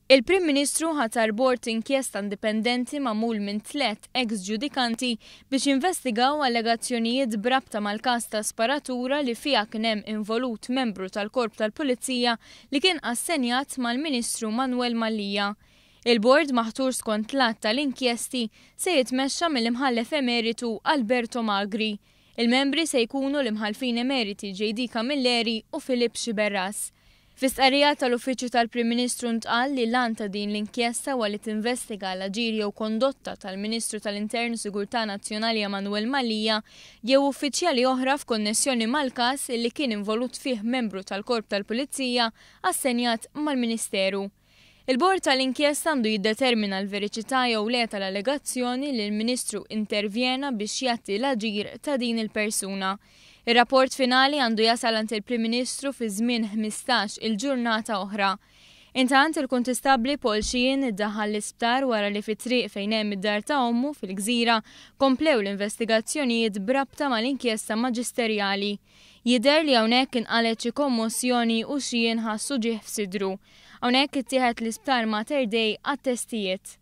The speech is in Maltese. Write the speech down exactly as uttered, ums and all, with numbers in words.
Il-Prim Ministru ħatar bord inkjesta indipendenti magħmul minn tliet ex-ġudikanti biex jinvestigaw allegazzjonijiet b'rabta mal-każ ta' sparatura li fiha kien hemm involut membru tal-Korp tal-Pulizija li kien assenjat mal-Ministru Manuel Mallia. Il-bord, maħtur skont l-Att tal-Inkjesti, se jitmexxa mill-Imħallef Emeritu Alberto Magri. Il-membri se jkunu l-Imħallfin Emeriti J D. Camilleri u Philip Sciberras. Fi stqarrija tal-Uffiċċju tal-Prim Ministru ntqal li l-għan ta' din l-inkjesta huwa li tinvestiga l-aġir jew kondotta tal-Ministru tal-Intern u Sigurtà Nazzjonali Emanuel Mallia jew uffiċjali oħra f'konnessjoni mal-każ li kien involut fih membru tal-Korp tal-Pulizija assenjat mal-Ministeru. Il-bord tal-inkjesta għandu jiddetermina l-veriċità jew le tal-allegazzjoni li l-Ministru intervjena biex jgħatti l-aġir ta' din il-persuna. Ir-rapport finali għandu jasal għand il-Prim Ministru fi żmien ħmistax il-ġurnata oħra. Intant, il-Kuntistabbli Paul Sheehan iddaħħal l-isptar wara li fit-triq fejn hemm id-dar ta' ommu fil-Gżira komplew l-investigazzjonijiet b'rabta mal-inkjesta maġisterjali. Jidher li hawnhekk inqalet xi kommossjoni u Sheehan ħassu uġigħ f'sidru. Hawnhekk ittieħed l-isptar Mater Dei għat-testijiet.